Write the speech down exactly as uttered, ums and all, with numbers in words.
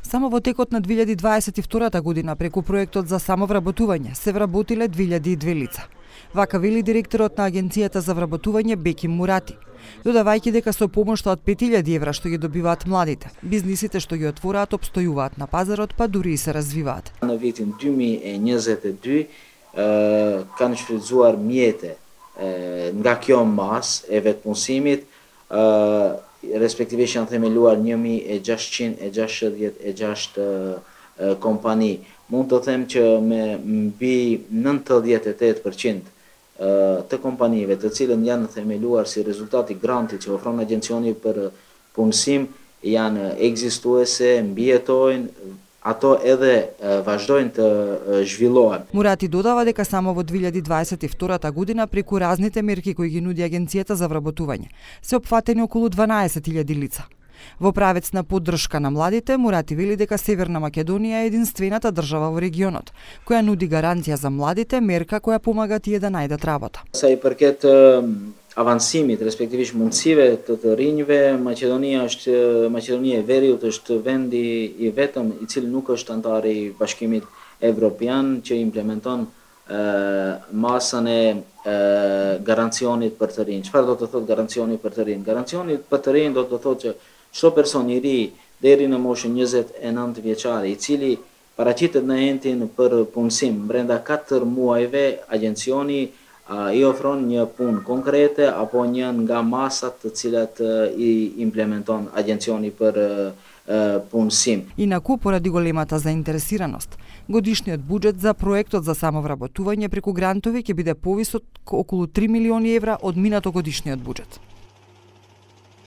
Само во текот на две илјади дваесет и втора година преку проектот за самовработување се вработиле две илјади и две лица. Вака вели директорот на Агенцијата за вработување Беким Мурати, додавајќи дека со помошта од пет илјади евра што ги добиваат младите, бизнисите што ги отвораат обстојуваат на пазарот, па дури и се развиваат. На витин две мији e njëzet e dy kanë shfrytzuar mjete nga kjo mas e vetpunësimit, respektivisht janë themeluar një mijë e gjashtëqind e gjashtëdhjetë e gjashtë kompani. Mund të them që me mbi nëntëdhjetë e tetë përqind të kompanive të cilën janë themeluar si rezultati grantit që ofron Agjencioni për punësim janë ekzistuese, mbijetojnë, ato edhe vazhdojnë të zhvillohen. Мурати додава дека само во две илјади дваесет и втора година преку разните мерки кои ги нуди Агенцијата за вработување се опфатени околу дванаесет илјади лица. Во правец на поддршка на младите, Мурати вели дека Северна Македонија е единствената држава во регионот која нуди гаранција за младите, мерка која помага тие да најдат работа. Sa i përket avancimit, respektivisht mundësive të të rinjve, Maqedonia është Maqedonia e Veriut është vendi i vetëm i cili nuk është antar i Bashkimit Evropian që implementon masën e garancionit për të rinj. Çfarë do të thotë garancioni për të rinj? Garancioni për të rinj do të thotë që çdo person i ri deri në moshën njëzet e nëntë vjeçare i cili paraqitet në entin për punësim brenda katër muajve, Agjencioni i ofron një punë konkrete apo një nga masat të cilat i implementon Agjencioni për punësim. Инаку, поради големата заинтересираност, годишниот буџет за проектот за самовработување преку грантови ќе биде повисок околу три милиони евра од минато годишниот буџет.